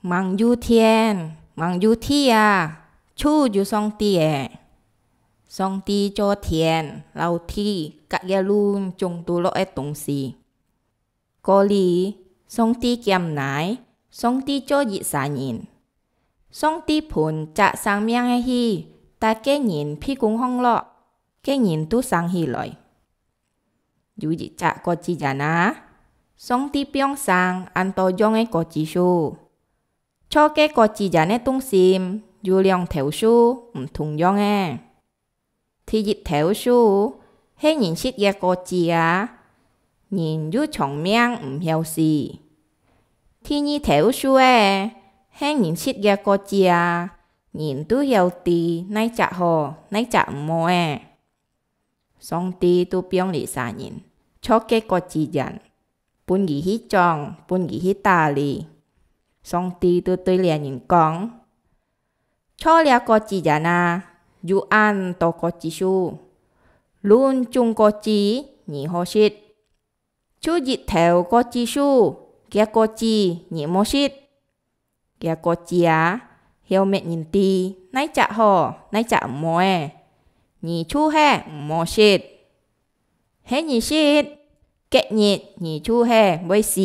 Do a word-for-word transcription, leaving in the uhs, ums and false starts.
吂有天，吂有地啊，就有上帝欸。上帝造天摎地，佮這攏總都落个東西。過了，上帝兼哪，上帝造一儕人。上帝分隻生命个氣，搭該人鼻公項落，該人就生起來。 有一隻果子園啊，上帝放生恁多樣个果子樹。著該果子園个中心有兩頭樹毋同樣个。第一頭樹係人食个果子啊，人又長命毋曉死。第二頭樹仔係人食个果子啊，人都曉知哪隻好，哪隻毋好欸。 上帝就放這儕人著該果子園，分佢去種，分佢去打理。上帝就對這人講：「著這果子園啊，有恁多果子樹，攏總果子你好食。 就一頭果子樹，厥果子你莫食。厥果子啊，曉搣人知哪隻好，哪隻毋好欸，你就係毋好食。係你食，該日你就係會死。」